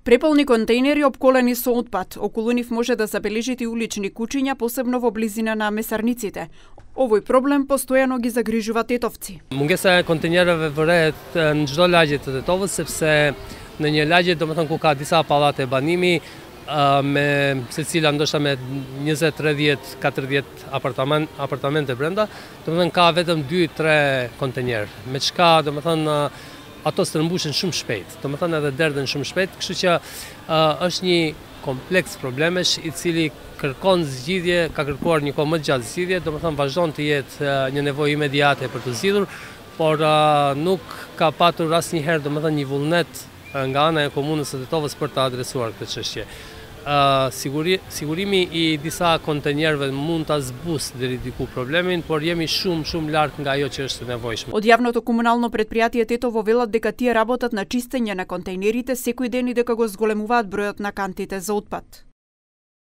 Преполни контејнери обколени со отпад. Околу нив може да забележите и улични кучиња, посебно во близина на месарниците. Овој проблем постојано ги загрижува тетовци. Мунгеса e kontenjereve vërehet në çdo lagje të Tetovës sepse në një lagje domethënë ku ka disa pallate banimi me secila ndoshta me 20, 30, 40 apartamente brenda, domethënë ka vetëm 2-3 kontenjer. Me çka domethënë ato strëmbushen shumë shpejt, domethënë edhe derdhen shumë shpejt, kështu që është një kompleks problemesh i cili kërkon zgjidhje, ka kërkuar një kohë më gjatë zgjidhje, domethënë vazhdon të jetë një nevojë imediate për të zgjidhur, por nuk ka patur asnjëherë domethënë një vullnet nga ana e komunës së Tetovës për të adresuar këtë çështje. Sigurimi i disa kontenjerëve mund ta zbusë deri diku problemin, por jemi shumë larg nga ajo që është nevojshme. Од јавното комунално претпријатие Тетово велат дека тие работат на чистење на контејнерите секој ден и дека го зголемуваат бројот на кантите за отпад.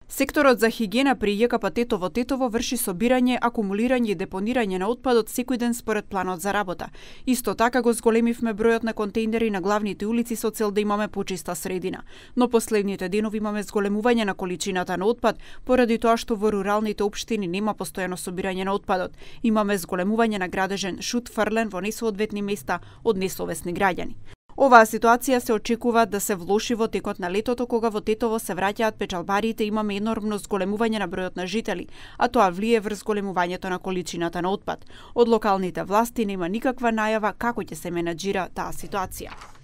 Секторот за хигиена при ЈКП Тетово врши собирање, акумулирање и депонирање на отпадот секој ден според планот за работа. Исто така го зголемивме бројот на контејнери на главните улици со цел да имаме почиста средина. Но последните денови имаме зголемување на количината на отпад поради тоа што во руралните општини нема постојано собирање на отпадот. Имаме зголемување на градежен шут фрлен во несоодветни места од несовесни граѓани. Оваа ситуација се очекува да се влоши во текот на летото, кога во Тетово се враќаат печалбарите, имаме енормно зголемување на бројот на жители, а тоа влие врз зголемувањето на количината на отпад. Од локалните власти нема никаква најава како ќе се менаџира таа ситуација.